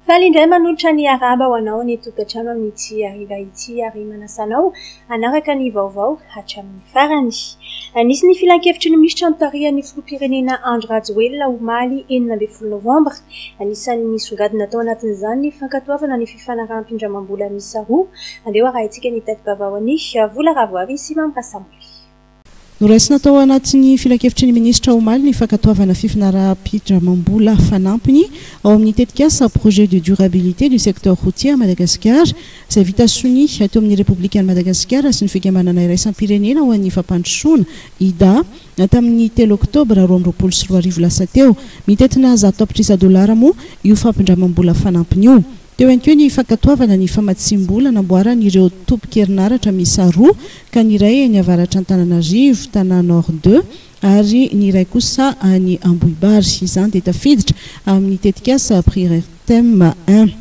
Faly indray manolotra ny arahaba ho anao any an-tokantrano amin'ity hariva ity ary manasa anao hanaraka ny vaovao hatramin'ny farany. Nisy ny filankevitry ny minisitra notarihan'ny filoham-pirenena Andry Rajoelina omaly 16 novambra. Anisan'ny nisongadina tao anatin'izany ny fankatoavana ny fifanaraham-pindramam-bola miisa roa. Andeha ho arahintsika ny tati-baovao an'i Vola Ravoavy sy Mamy Rasamoly. Noraisina tao anatin'ny filankevitry ny minisitra omaly ny fankatoavana fifanaraham-pindramam-bola fanampiny ao amin'ny tetikasa Projet de durabilité du secteur routier à Madagascar izay vita sonia teo amin'ny Repoblikan'i Madagasikara sy ny Fikambanana iraisam-pirenena ho an'ny fampandrosoana, IDA, tamin'ny telo oktobra 2022 lasa teo. Mitentina 100 tapitrisa dolara moa io fampindramam-bola fanampiny io. Teo ihany koa ny fankatoavana ny famatsiam-bola namboaran'ireo tobin-kerinaratra miisa roa ka ny iray eny avaratr'Antananarivo, Tana Nord deux, ary ny iray kosa any Ambohibary. Izany dia tafiditra amin'ny tetikasa Priortem un.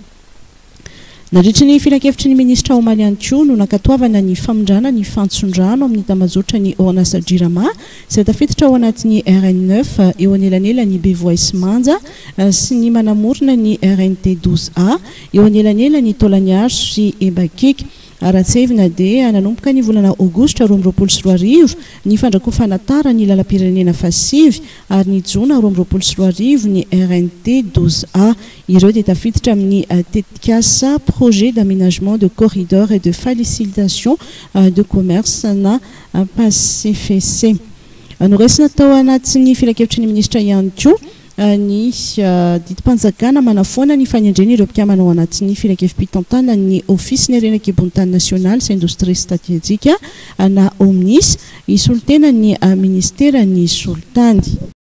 Nandritry ny filankevitry ny minisitra omaly ihany koa no nankatoavana ny famindrana ny fantson-drano amin'ny tambajotra ny orinasa Jirama izay tafiditra ao anatin'ny RN neuf eo anelanelan'i Bevoay sy Manja sy ny manamorona ny RNT douze A eo anelanelan'i Taolagnaro sy Embakiaka. Raha tsiahivina dia nanomboka ny volana aogositra 2022 ny fandrakofana tara ny lalam-pirenena fahasivy ary ny jona 2022 ny RNT douze A. Ireo dia tafiditra amin'ny tetikasa Projet d'aménagement de corridor et de facilitation de commerce na Pacfc. Noraisina tao anatin'ny filankevitry ny minisitra ihany koa ny didim-panjakana manafoana ny fanendrena ireo mpikambana ao anatin'ny filankevi-pitantanan'ny Ofisin'ny harena an-kibon'ny tany nasionaly sy indostria stratejika na OMNIS hisolo tena ny ministeran'ny solitany.